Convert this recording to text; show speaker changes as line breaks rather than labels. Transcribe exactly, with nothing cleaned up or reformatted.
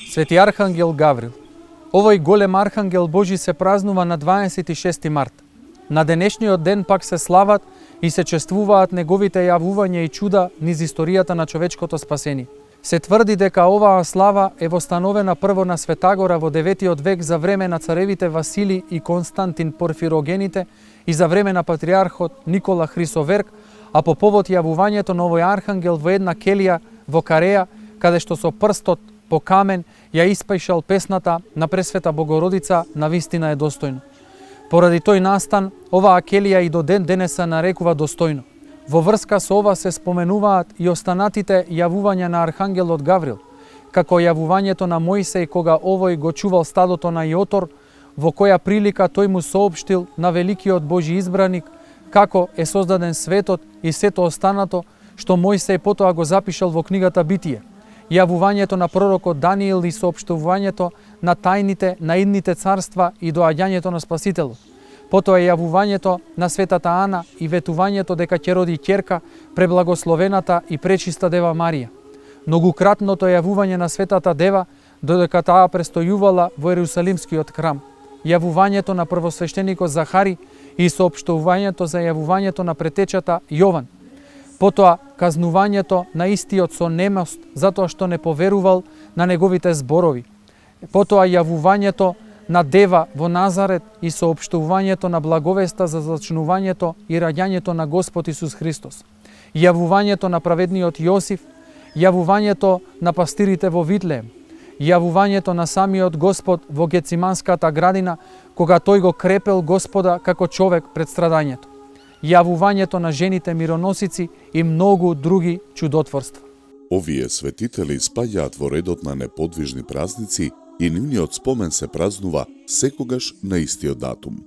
Свети Архангел Гаврил. Овој голем Архангел Божи се празнува на дваесет и шести март. На денешниот ден пак се слават и се чествуваат неговите јавувања и чуда низ историјата на човечкото спасение. Се тврди дека оваа слава е востановена прво на Светагора во деветиот век за време на царевите Васили и Константин Порфирогените и за време на патриархот Никола Хрисоверк, а по повод јавувањето на овој архангел во една келија во Кареја, каде што со прстот по камен ја испајшал песната на Пресвета Богородица на вистина е достојно. Поради тој настан, оваа келија и до ден денес се нарекува достојно. Во врска со ова се споменуваат и останатите јавувања на архангелот Гаврил, како јавувањето на Мојсеј кога овој го чувал стадото на Јотор, во која прилика тој му соопштил на великиот Божи избраник како е создаден светот и сето останато што Мојсеј потоа го запишал во книгата Битие. Јавувањето на пророкот Даниил и соопштувањето на тајните на идните царства и доаѓањето на Спасителот. Потоа јавувањето на светата Ана и ветувањето дека ќе роди ќерка преблагословената и пречиста Дева Марија. Многукратното јавување на светата Дева додека таа престојувала во Ерусалимскиот храм. Јавувањето на првосвештеникот Захари и соопштувањето за јавувањето на претечата Јован. Потоа казнувањето на истиот со немост затоа што не поверувал на неговите зборови. Потоа јавувањето на Дева во Назарет и соопштувањето на благовеста за зачнувањето и раѓањето на Господ Исус Христос. Јавувањето на праведниот Јосиф, јавувањето на пастирите во Витлеем, јавувањето на самиот Господ во Гециманската градина, кога тој го крепел Господа како човек пред страдањето. Јавувањето на жените мироносици и многу други чудотворства.
Овие светители спаѓаат во редот на неподвижни празници и нивниот спомен се празнува секогаш на истиот датум.